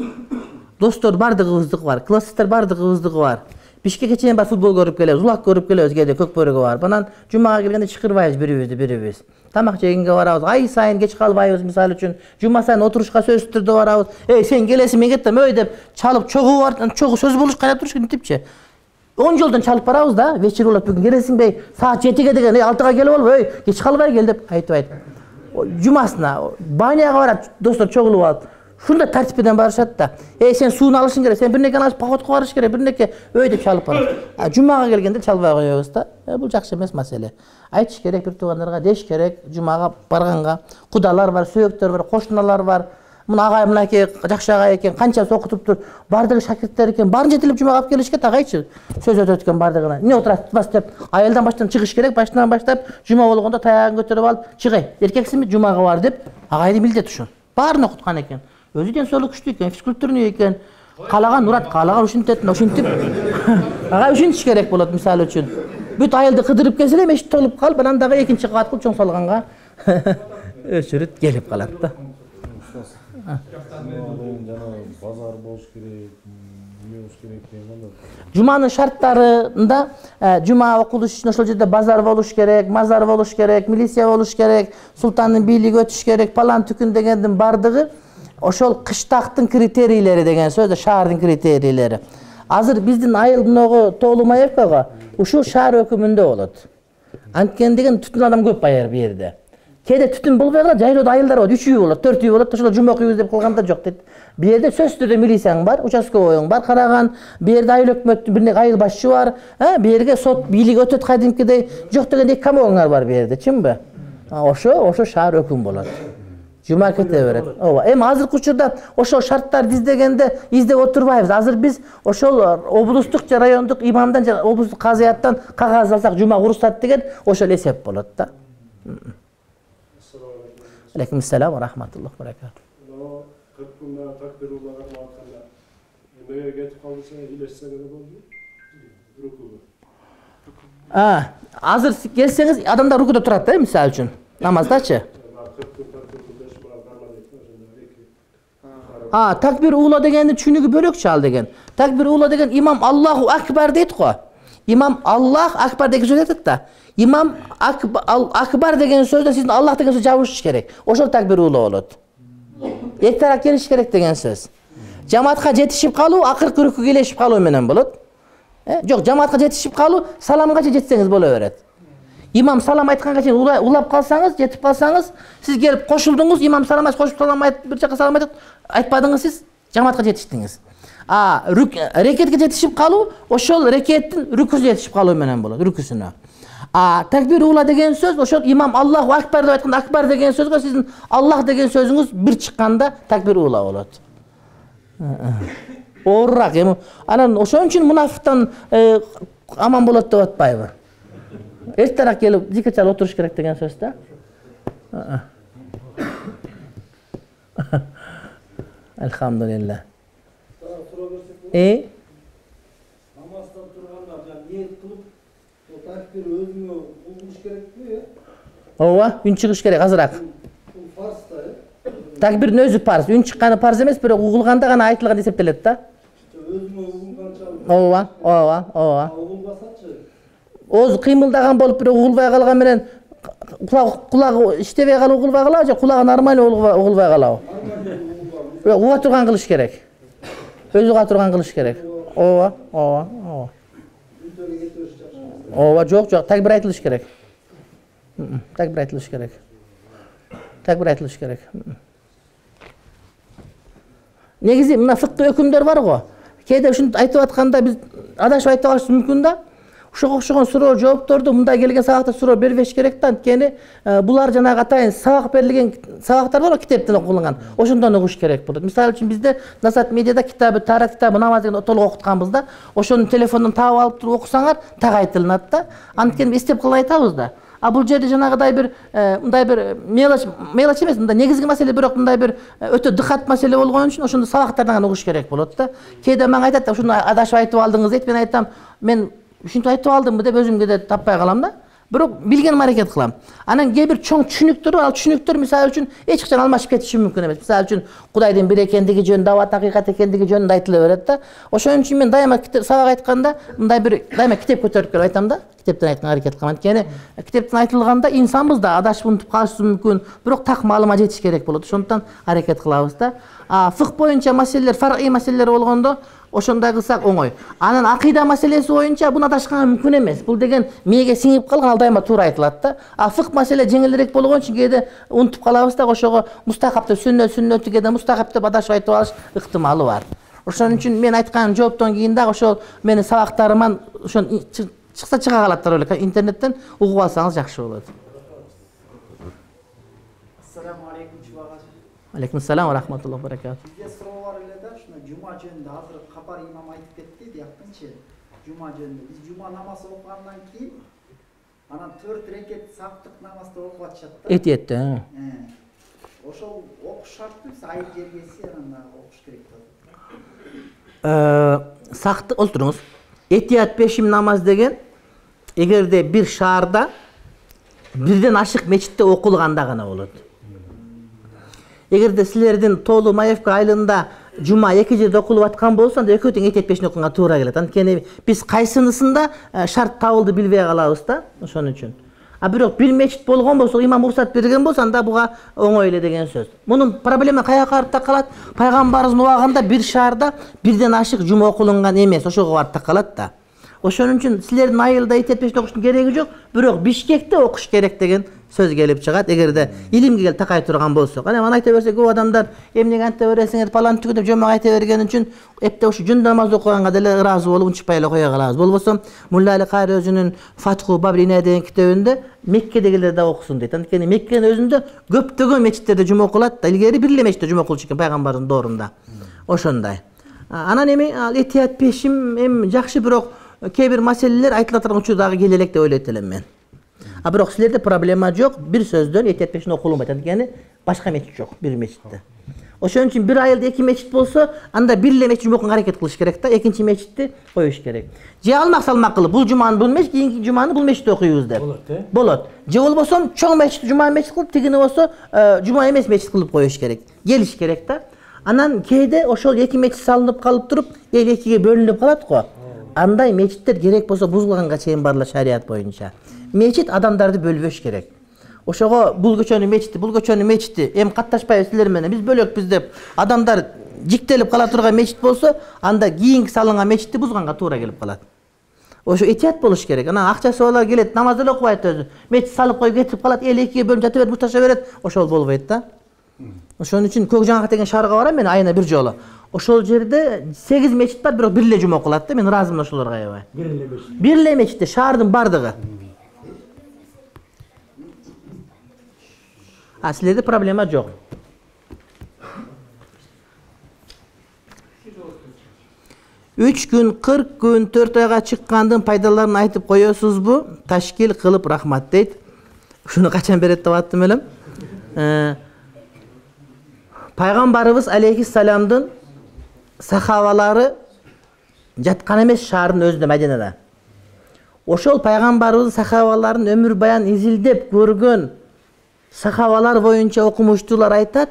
Достор бардыгыбыздыкы бар, класстар бардыгыбыздыкы бар. Бишкекке чейин бар футбол көрүп келебиз, улак көрүп келебиз, кээде көкбөрөгө барып. Анан жумага келгенде чакырбайбыз бирибизди бирибиз. Тамак жегенге барабыз, ай сайын кеч калбайбыз, мисалы үчүн. Жума сайын отурушка сөзсүз түрдө барабыз. Эй, сен келесиң, мен кеттим, өй деп чалып чогуу бар, чогуу сөз болуш кайда туруш мынтипчи. он жолдон чалып барабыз да, вечер болот, бүгүн келесиңби? Саат жетиге деген, эй, алтыга келип алып, эй, кеч калбай кел деп айтпайт. Жумасына баняга барат, достор чогулуп алып. Шундай тартиппен барышат да. Эй, сен сууну алышың керек, сен бир нерсе алып походко барыш керек, бир нерсе өй деп чалып барат. А жумага келгенде чалбай коебуз да. Э, бул жакшы эмес маселе. Айтыш керек бир туугандарга, деш керек, жумага барганга. Кудалар бар, сөөктөр бар, кошуналар бар. Мына агай мынакей жакшы агай экен, канчасы окутуптур, бардыгы шакирттер экен, баарын жетелеп жумага алып келишке агайчы. Сөз өтөт экен бардыгына. Эмне отурасыз деп, айылдан баштан чыгыш керек, баштан баштап жума болгондо таягын көтөрүп алып, чыгай, эркексиңби, жумага бар деп, агайдын милдети ушул. Баарын окуткан экен. Өзү ден соолук күчтүү экен, физкультурный экен. Каалаган урат, каалаган ушинтет, ушинтип. Агай ушинтиш керек болот мисалы үчүн. Бүт айылды кыдырып келсе эле мешит толуп калып, анан дагы экинчи кабат кылып чоң салганга өчүрүт келип калат да. Базар болуш керек, эмне болуш керек дегенде. Жуманын шарттарында жума окулуш үчүн ошол жерде базар болуш керек, мазар болуш керек, милиция болуш керек, султандын бийлиги өтүш керек, палан түкүн дегендин бардыгы ошол кыштактын критерийлери деген сөз, шаардын критерийлери. Азыр биздин айыл мыногу Тоолу-Маевкага ушул шаар өкүмүндө болот. Анткени деген түтүн адам көп байыр бу жерде. Кээде түтүн болбой калат, жайлоодо айылдар болот, үч үй болот, төрт үй болот, ошол жума окуйбуз деп кылганда жок дейт. Бу жерде сөзсүз түрдө милицияң бар, участковойуң бар, караган, бу жерде айыл өкмөттүн бир нерсе айыл башчы бар, бу жерге сот бийлиги өтөт кадимкидей, жок дегенде эки комогоңар бар бу жерде, чынбы? Ошо, ошо шаар өкүм болот. Жума кете берет. Ооба. Эми азыркы учурда ошол шарттарды издегенде издеп отурбайбыз. Азыр биз ошол облустук же райондук имамдан же облустук казыяттан кагаз алсак жума уруксат деген ошол эсеп болот да. Алейкум ассалам ва рахматуллахи ва баракатух. Но кырк күндө такбир улаган вакытында эмеге кетип калса илешсе деле болду. Рукуга. А, азыр келсеңиз адамдар рукуда турат да, мисалы үчүн. Намаздачы. А, такбир ула дегенди түшүнүгү бөлөкчү ал деген. Такбир ула деген имам Аллаху акбар дейт го. Имам Аллах акбар деген сөз айтат да. Имам акбар деген сөздө сиздин Аллах деген сөз жабышыш керек. Ошол такбир ула болот. Эки тарап келиш керек деген сөз. Жамаатка жетишип калуу акыркы рүкүгө келешип калуу менен болот. Жок, жамаатка жетишип калуу саламгача жетсеңиз боло берет. Имам салам айтканга чейин улап калсаңыз, жетип калсаңыз, сиз келип кошулдуңуз, имам салам айтып кошуп салам айтып, бир жака салам айтып айтпадыңыз, сиз жамаатка жетиштиңиз. А рекетке жетишип калуу ошол рекеттин рүкүсүнө жетишип калуу менен болот, рүкүсүнө. А такбир ула деген сөз ошол имам Аллаху акбар деп айтканда акбар деген сөзгө сиздин Аллах деген сөзүңүз бир чыкканда такбир ула болот. Оорураак эми. Анан ошон үчүн мунафиктан аман болот деп атпайбы? Эртерээк келип зикир чалып отуруш керек деген сөз да. Алхамдулилла. Э? Намаздан турганда жана ниет кылып, такбир өзүңө угуш керекпи, э? Ооба, үн чыгыш керек азыраак. Бул фарз да, э? Такбирдин өзү парз, үн чыкканы парз эмес, бирок угулганда гана айтылган эсептелет да. Өзүңө угулганча. Ооба, ооба, ооба. Угулбасачы. Ооз кыймылдаган болуп бирок угулбай калган менен кулак кулагы иштебей калып угулбай калабы же кулагы нормально угулбай калабы? Бирок уга турган кылыш керек. Өзү уга турган кылыш керек. Ооба, ооба, ооба. Ооба, жок, жок, такбир айтылыш керек. Такбир айтылыш керек. Такбир айтылыш керек. Негизи мына фыкы өкүмдөр бар го. Кээде ушинтип айтып атканда биз адашып айтып калышыбыз мүмкүн да. Ошого окшогон суроо жоопторду мындай келген сабакта суроо бербеш керек да. Анткени булар жанагы атайын сабак берилген сабактар бар, китептен окулган. Ошондон угуш керек болот. Мисалы үчүн бизде Назат медиада китабы, Тарат китабы, намаз деген толук окутканбыз да. Ошону телефондон таап алып туруп окусаңар так айтылат да. Анткени эстеп калып айтабыз да. А бул жерде жанагыдай бир мындай бир мелочь, мелочь эмес, мындай негизги маселе, бирок мындай бир өтө дыкат маселе болгон үчүн ошондо сабактардан угуш керек болот да. Кээде мага айтат да, ушуну адашып айтып алдыңыз дейт. Мен айтам, мен ушинтип айтып алдымбы деп өзүмгө да таппай калам да. Бирок билгеним аракет кылам. Анан кээ бир чоң түшүнүктөр бар, ал түшүнүктөр мисалы үчүн эч качан алмашып кетиши мүмкүн эмес. Мисалы үчүн Кудайдын бир экендиги жөнүндө, абат акыйкат экендиги жөнүндө айтыла берет да. Ошон үчүн мен дайыма сабак айтканда мындай бир дайыма китеп көтөрүп келип айтам да. Китептен айтканга аракет кылам. Анткени китептен айтылганда инсанбыз да, адашып унутуп калышыбыз мүмкүн. Бирок так маалыма жетиш керек болот. Ошондуктан аракет кылабыз да. А фык боюнча маселелер, фарый маселелер болгондо ошондой кылсак оңой. Анан акыйда маселеси боюнча буну адашканга мүмкүн эмес. Бул деген мээге сиңип калган, ал дайыма туура айтылат да. А фык маселе жеңилирээк болгон үчүн кээде унутуп калабыз да, ошого мустахап деп сүннөт, сүннөттү кээде мустахап деп адашып айтып алыш ыктымалы бар. Ошон үчүн мен айткан жооптон кийин дагы ошол менин сабактарыман ошон чыкса чыга калаттар эле. Интернеттен угуп алсаңыз жакшы болот. Ассаламу алейкум чубагат. Алейкум ассалам ва рахматуллахи ва баракатух. Бизде суроо бар эле да, ушуна жума жөнүндө азыр капар имам айтып кетти, дияктынчы жума жөнүндө. Биз жума намаз окугандан кийин анан төрт рекет саптык намазды окуп атышат да. Этиетте. Ошол окуш шартпы, биз айыл жергеси анан окуш керек да. Э, сакты олтуруңуз. Этият пешим намаз деген эгерде бир шаарда бирден ашык мечитте окулганда гана болот. Эгерде силердин Тоолу Маевка айылында жума эки жерде окулуп аткан болсо, анда экөө тең этият пешин окуганга туура келет. Анткени биз кайсынысында шарт табылды билбей калабыз да, ошон үчүн. А бирок бир мечит болгон болсо, имам уруксат берген болсо, анда буга оңой эле деген сөз. Мунун проблема каяка барып такалат? Пайгамбарыбыздын убагында бир шаарда бирден ашык жума окулунган эмес, ошого барып такалат да. Ошон үчүн силердин айылда этият пешин окуштун кереги жок, бирок Бишкекте окуш керек деген сөз келип чыгат, эгерде илимге келип такай турган болсо. Кана мына айта берсе көп адамдар эмнеге анта бересиңер, палан түгү деп жомок айта берген үчүн эпте ушу жөн намаз окуганга деле ыраазы болуп унчукпай эле кое калабыз. Болбосо Мулла Али Кайры өзүнүн Фатху Бабрина деген китебинде Меккедегилер да окусун дейт. Анткени Меккенин өзүндө көптөгөн мечиттерде жума окулат да. Илгери бир эле мечитте жума окулчу экен пайгамбардын доорунда. Ошондой. Анан эми этият пешим эми жакшы, бирок кээ бир маселелер айтыла турган учур дагы келе элек деп ойлойт элем мен. А бирок силерде проблема жок, бир сөздөн этият пешин окулунбайт. Анткени башка мечит жок, бир мечитте. Ошон үчүн бир айылда эки мечит болсо, анда бир эле мечит окуганга аракет кылыш керек да, экинчи мечитти коюш керек. Же алмак салмак кылып, бул жуманы бул мечит, кийинки жуманы бул мечитте окуйбуз деп. Болот, э? Болот. Же болбосо чоң мечит жума мечит кылып, тигини болсо жума эмес мечит кылып коюш керек. Келиш керек да. Анан кээде ошол эки мечит салынып калып туруп, эл экиге бөлүнүп калат го. Андай мечиттер керек болсо бузулганга чейин бар эле шарият боюнча. Мечит адамдарды бөлбөш керек. Ошого бул көчөнүн мечити, бул көчөнүн мечити, эми катташпайбыз силер менен, биз бөлөкпүз деп адамдар жиктелип кала турган мечит болсо, анда кийинки салынган мечитти бузганга туура келип калат. Ошо этият болуш керек. Анан акчасы болор келет, намаз эле окубайт өзү. Мечит салып коюп кетип калат, эл экиге бөлүнүп жата берип мушташа берет. Ошол болбойт да. Ошон үчүн Көкжаңак деген шаарга барам мен айына бир жолу. Ошол жерде сегиз мечит бар, бирок бир эле жума окулат да. Мен ыраазымын ошолорго аябай. Бир эле мечит. Бир эле мечитте шаардын бардыгы. А силерде проблема жок. үч күн, кырк күн, төрт айга чыккандын пайдаларын айтып коесузбу? Ташкил кылып рахмат дейт. Ушуну качан берет деп аттым элем. Пайгамбарыбыз алейхиссаламдын сахабалары жаткан эмес шаардын өзүндө, Мадинада. Ошол пайгамбарыбыздын сахабаларын өмүр баян изилдеп көргөн сахабалар боюнча окумуштуулар айтат,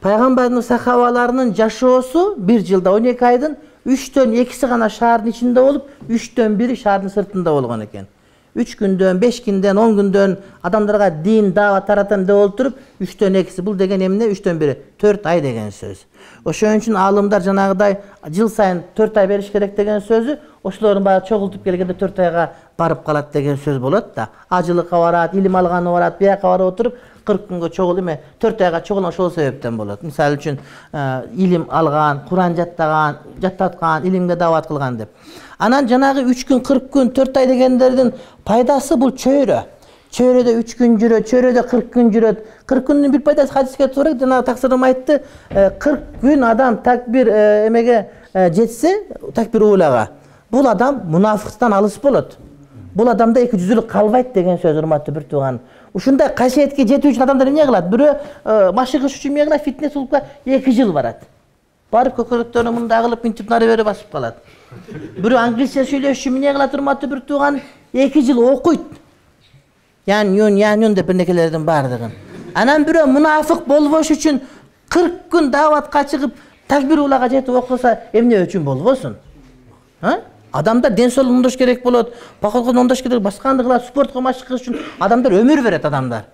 пайгамбардын сахабаларынын жашоосу бир жылда он эки айдын үчтөн экиси гана шаардын ичинде болуп, үчтөн бири шаардын сыртында болгон экен. үч күндөн, беш күндөн, он күндөн адамдарга дин, даават таратам деп олтуруп, үчтөн экиси. Бул деген эмне? үчтөн бири, төрт ай деген сөз. Ошон үчүн аалымдар жанагыдай жыл сайын төрт ай бериш керек деген сөзү, ошолордун баары чогултуп келгенде төрт айга барып калат деген сөз болот да. Ажылыкка барат, илим алганы барат, бияка барып отуруп, кырк күнгө чогул эме, төрт айга чогулган ошол себептен болот. Мисалы үчүн илим алган, Куран жаттаган, жаттаткан, илимге даават кылган деп. Анан жанагы үч күн, кырк күн, төрт ай дегендердин пайдасы бул чөйрө. Чөйрөдө үч күн жүрөт, чөйрөдө кырк күн жүрөт. кырк күндүн бир пайдасы хадиске туура, жанагы таксирым айтты, кырк күн адам такбир эмеге жетсе, такбир уулага, бул адам мунафыктан алыс болот. Бул адамда эки жүздүүлүк калбайт деген сөз, урматтуу бир тууган. Ушундай касиетке жетүү үчүн адамдар эмне кылат? Бирөө машык иш үчүн эмне кылат? Фитнес клубга эки жыл барат. Барып көкөрөктөрүн мындай кылып, минтип нары бери басып калат. Бирөө англисче сүйлөш үчүн эмне кылат? Урматтуу бир тууган, эки жыл окуйт. Ян юн, ян юн деп бирнекелердин бардыгын. Анан бирөө мунафык болбош үчүн кырк күн дааватка чыгып, такбир уулага жетип окуса, эмне үчүн болбосун? А? Адамдар ден соолук оңдош керек болот, походго оңдош керек, башканды кылат, спортко машык кылыш үчүн адамдар өмүр берет адамдар.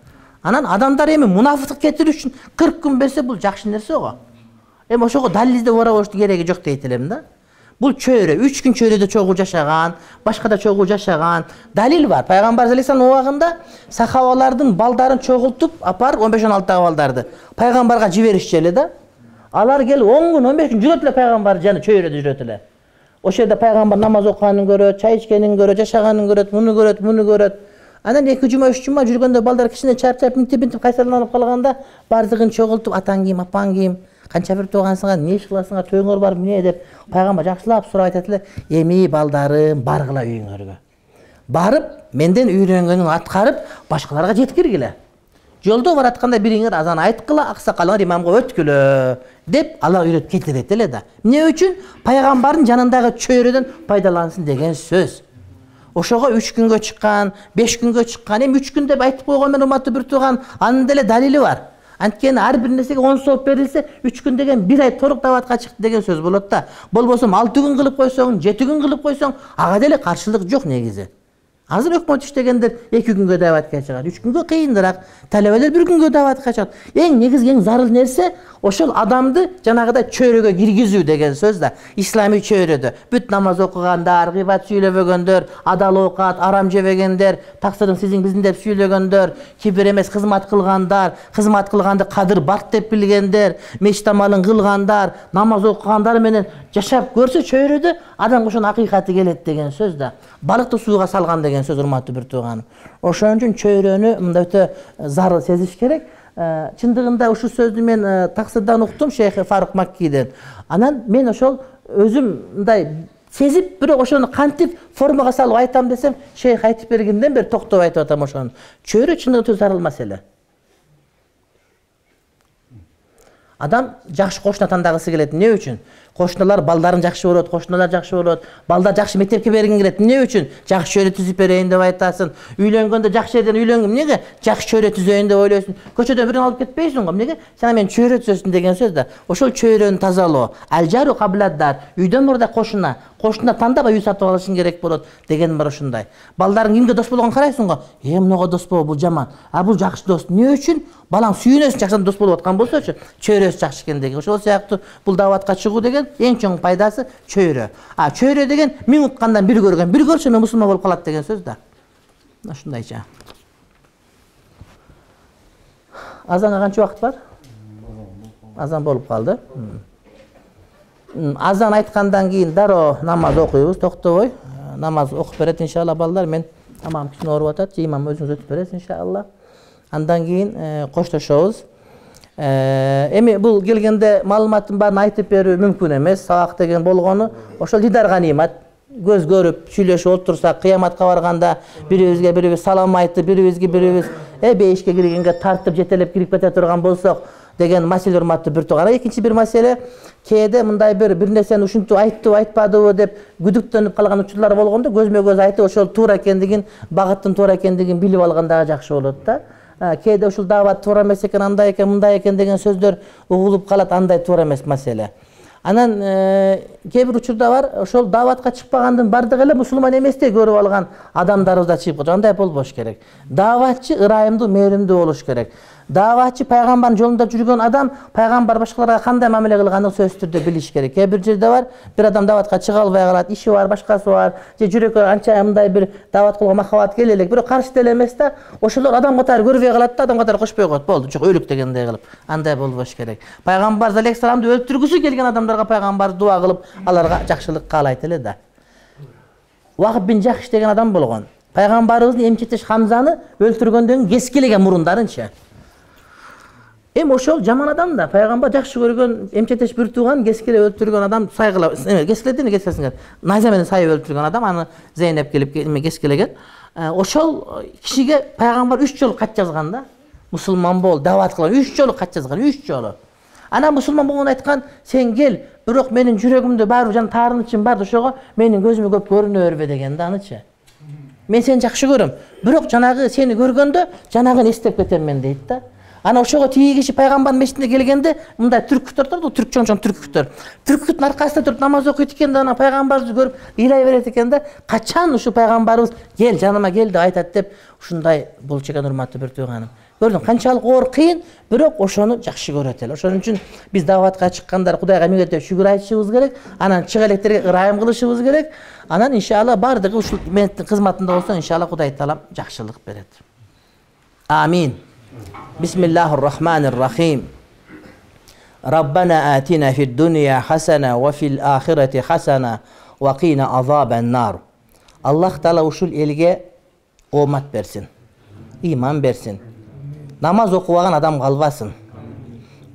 Анан адамдар эми мунафыктык кетирүү үчүн кырк күн берсе, бул жакшы нерсе го. Эми ошого далил издеп барабоштун кереги жок дейт элем да. Бул чөйрө, үч күн чөйрөдө чогуу жашаган, башкада чогуу жашаган далил бар. Пайгамбар алейхиссалам убагында сахабалардын балдарын чогултуп апарып, он беш он алты балдарды пайгамбарга жиберишчү эле да. Алар келип он күн, он беш күн жүрөт эле пайгамбар жаны чөйрөдө жүрөт эле. Ошол жерде пайгамбар намаз окуганын көрөт, чай ичкенин көрөт, жашаганын көрөт, муну көрөт, муну көрөт. Анан эки жума, үч жума жүргөндө балдар кичине чарчап, минтип-минтип кайсарланып калганда, бардыгын чогултуп, атаң ким, апаң ким, канча бир туугансыңар, эмне иш кыласыңар, тойуңар бар эмне деп пайгамбар жакшылап сурап айтат эле, эми балдарым, баргыла үйүңөргө. Барып, менден үйрөнгөнүн аткарып, башкаларга жеткиргиле. Жолдо баратканда бириңер азан айткыла, аксакалыңар имамга өткүлө деп Алла үйрөтүп кетирет эле да. Эмне үчүн? Пайгамбардын жанындагы чөйрөдөн пайдалансын деген сөз. Ошого үч күнгө чыккан, беш күнгө чыккан, эми үч күн деп айтып койгон мен урматтуу бир тууган, анын деле далили бар. Анткени ар бир нерсеге он сооп берилсе, үч күн деген бир ай торук дааватка чыкты деген сөз болот да. Болбосо алты күн кылып койсоң, жети күн кылып койсоң, ага деле каршылык жок негизи. Азыр өкмөт иштегендер эки күнгө дааватка чыгат, үч күнгө кыйыныраак, талебелер бир күнгө дааватка чыгат. Эң негизги, эң зарыл нерсе ошол адамды жанагыдай чөйрөгө киргизүү деген сөз да. Исламий чөйрөдө бүт намаз окугандар, гыйбат сүйлөбөгөндөр, адал оокат, арам жебегендер, таксырың сизин биздин деп сүйлөгөндөр, кибир эмес кызмат кылгандар, кызмат кылганды кадыр барк деп билгендер, мечит амалын кылгандар, намаз окугандар менен жашап көрсө чөйрөдө, адамга ошонун акыйкаты келет деген сөз да. Балыкты сууга салган деген сөз, урматтуу бир тууганым. Ошон үчүн чөйрөнү мындай өтө зарыл сезиш керек. Чындыгында ушу сөздү мен таксырдан уктум, Шейх Фарук Маккиден. Анан мен ошол өзүм мындай сезип, бирок ошону кантип формага салып айтам десем, Шейх айтып бергенден бери токтоп айтып атам ошону. Чөйрө чындыгында зарыл маселе. Адам жакшы кошуна тандагысы келет. Эмне үчүн? Кошуналар балдарын жакшы көрөт, кошуналар жакшы болот, балдар жакшы мектепке бергиң келет. Эмне үчүн? Жакшы чөйрө түзүп берейин деп айтасың. Үйлөнгөндө жакшы жерден үйлөнгөм. Эмнеге? Жакшы чөйрө түзөйүн деп ойлойсуң. Көчөдөн бирин алып кетпейсиң го. Эмнеге? Сен мен чөйрө түзөсүн деген сөз да. Ошол чөйрөнү тазалоо. Алжару кабладдар. Үйдөн мурда кошуна, кошуна тандабай үй сатып алышың керек болот деген бар ошундай. Балдарың кимге дос болгонун карайсың го. Э, мынага дос боло, бул жаман. А бул жакшы дос. Эмне үчүн? Балаң сүйүнөсүн, жакшы дос болуп аткан болсочу, чөйрөсү жакшы экен деген. Ошол сыяктуу бул дааватка чыгуу деген эң чоң пайдасы чөйрө. А чөйрө деген миң уккандан бир көргөн, бир көрсө мен мусулман болуп калат деген сөз да. Ушундайча. Азанга канча убакыт бар? Азан болуп калды. Азан айткандан кийин дароо намаз окуйбуз, токтобой. Намаз окуп берет иншалла балдар. Мен тамам кичине ооруп атат, имам өзүңүз өтүп бересиз иншалла. Андан кийин коштошобуз. Эми бул келгенде маалыматтын баарын айтып берүү мүмкүн эмес. Сабак деген болгону ошол дидарга нимат. Көз көрүп, сүйлөшүп отурсак, кыяматка барганда бирибизге бирибиз салам айтып, бирибизге бирибиз э бейишке киргенге тартып жетелеп кирип кете турган болсок деген маселе урматтуу бир тууган. Экинчи бир маселе, кээде мындай бир бир нерсени ушинтип айттыбы, айтпадыбы деп күдүктөнүп калган учурлар болгондо көзмө көз айтып, ошол туура экендигин, багыттын туура экендигин билип алган дагы жакшы болот да. Кээде ушул даават туура эмес экен, андай экен, мындай экен деген сөздөр угулуп калат, андай туура эмес маселе. Анан кээ бир учурда бар, ошол дааватка чыкпагандын бардыгы эле мусулман эместей көрүп алган адамдарыбыз да чыгып калат. Андай болбош керек. Дааватчы ырайымдуу, мээримдүү болуш керек. Дааватчы пайгамбардын жолунда жүргөн адам пайгамбар башкаларга кандай мамиле кылганын сөзсүз түрдө билиш керек. Кээ бир жерде бар, бир адам дааватка чыга албай калат, иши бар, башкасы бар, же жүрөккө анча мындай бир даават кылууга махабат келе элек, бирок каршы деле эмес да, ошолор адам катары көрбөй калат да, адам катары кошпой коет. Болду, жок өлүк дегендей кылып. Андай болбош керек. Пайгамбар алейхисаламды өлтүргүсү келген адамдарга пайгамбар дуа кылып, аларга жакшылык каалайт эле да. Вахб бин Жахш деген адам болгон. Пайгамбарыбыздын эмчектеш Хамзаны өлтүргөндөн кескилеген мурундарынча. Эми ошол жаман адам да, пайгамбар жакшы көргөн эмчектеш бир тууган кескилеп өлтүргөн адам сайгыла, кескиледин кескилесиңер. Найза менен сайып өлтүргөн адам, аны Зейнеп келип кескилеген. Ошол кишиге пайгамбар үч жолу кат жазган да. Мусулман бол, даават кылган, үч жолу кат жазган, үч жолу. Анан мусулман болгон айткан, сен кел, бирок менин жүрөгүмдө баары жан таарынычым бар, ошого менин көзүмө көп көрүнө бербе деген да анычы. Мен сени жакшы көрөм, бирок жанагы сени көргөндө жанагын эстеп кетем мен дейт да. Ана ошого тиги киши пайгамбардын мешитине келгенде мындай түркүктөр турду, түрк чоң-чоң түркүктөр. Түркүттүн аркасында туруп намаз окуйт экен да, ана пайгамбарды көрүп ыйлай берет экен да. Качан ушу пайгамбарыбыз кел, жаныма кел деп айтат деп ушундай болчу экен урматтуу бир тууганым. Көрдүң, канчалык оор кыйын, бирок ошону жакшы көрөт эле. Ошон үчүн биз дааватка чыккандар Кудайга миңиртеп шүгүр айтышыбыз керек, анан чыга электерге ырайым кылышыбыз керек. Анан иншалла бардыгы ушул менеттин кызматында болсо, иншалла Кудай таалам жакшылык берет. Амин. Бисмиллахир-рахманир-рахим. Раббана атина фид-дунья хасана ва фил-ахирати хасана ва кина азабан-нар. Аллах таала ушул элге омат берсин, иман берсин. Намаз окубаган адам калбасын.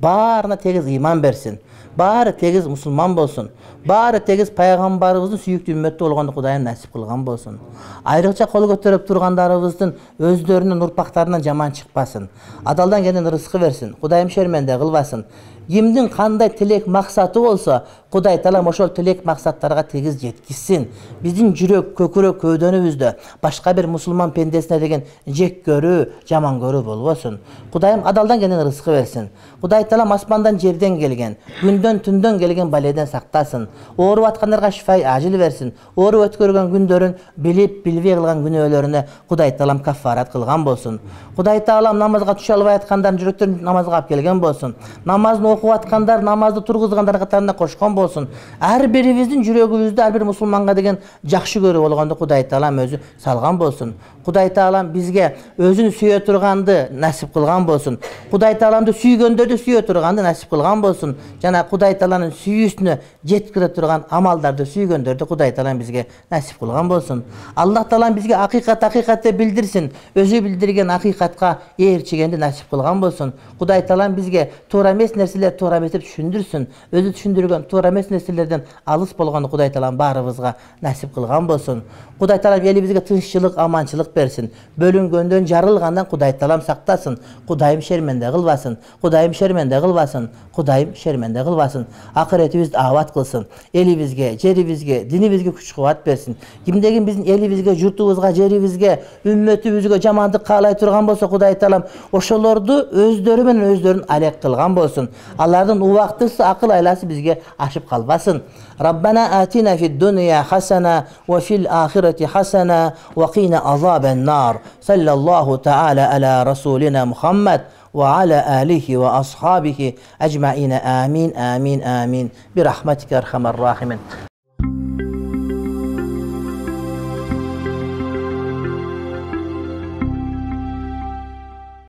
Баарына тегиз иман берсин. Баары тегиз мусулман болсун. Баары тегиз пайгамбарыбыздын сүйүктүү үммөтү болгонду Кудайым насип кылган болсун. Айрыкча кол көтөрүп тургандарыбыздын өздөрүнүн урпактарынан жаман чыкпасын. Адалдан келген рызкы берсин. Кудайым шерменде кылбасын. Кимдин кандай тилек максаты болсо, Кудай таалам ошол тилек максаттарга тегиз жеткизсин. Биздин жүрөк, көкүрөк, көөдөнүбүздө башка бир мусулман пендесине деген жек көрүү, жаман көрүү болбосун. Кудайым адалдан келген рызкы берсин. Кудай таалам асмандан жерден келген, күндөн түндөн келген баледен сактасын. Ооруп аткандарга шифай ажил берсин. Ооруп өткөргөн күндөрүн билип, билбей кылган күнөөлөрүнө Кудай таалам каффарат кылган болсун. Кудай таалам намазга түшө албай аткандардын жүрөктөрүн намазга алып келген болсун. Намазды окуп аткандар намазды тургузгандар катарына кошкон болсун. Ар бирибиздин жүрөгүбүздө ар бир мусулманга деген жакшы көрүү болгонду Кудай таалам өзү салган болсун. Кудай таалам бизге өзүн сүйө турганды насип кылган болсун. Кудай тааламды сүйгөндөрдү сүйө турганды насип кылган болсун. Жана Кудай тааланын сүйүүсүнө жеткире турган амалдарды сүйгөндөрдү Кудай таалам бизге насип кылган болсун. Аллах таалам бизге акыйкат акыйкат деп билдирсин. Өзү билдирген акыйкатка ээрчигенди насип кылган болсун. Кудай таалам бизге туура эмес нерселер нерселер туура эмес деп түшүндүрсүн. Өзү түшүндүргөн туура эмес нерселерден алыс болгону Кудай Таалам баарыбызга насип кылган болсун. Кудай Таалам элибизге тынччылык, аманчылык берсин. Бөлүнгөндөн, жарылгандан Кудай Таалам сактасын. Кудайым шерменде кылбасын. Кудайым шерменде кылбасын. Кудайым шерменде кылбасын. Акыретибизди абад кылсын. Элибизге, жерибизге, динибизге күч-кубат берсин. Кимдегин биздин элибизге, журтубузга, жерибизге, үммөтүбүзгө жамандык каалай турган болсо Кудай Таалам ошолорду өздөрү менен өздөрүн алек кылган болсун. Алардын убактысы, акыл айласы бизге ашып калбасын. Раббана атина фид дунья хасана ва фил ахирати хасана ва кина азабан нар. Саллаллаху таала аля расулина Мухаммад ва аля алихи ва асхабихи аджмаина. Амин, амин, амин. Бирахматика архамар рахимин.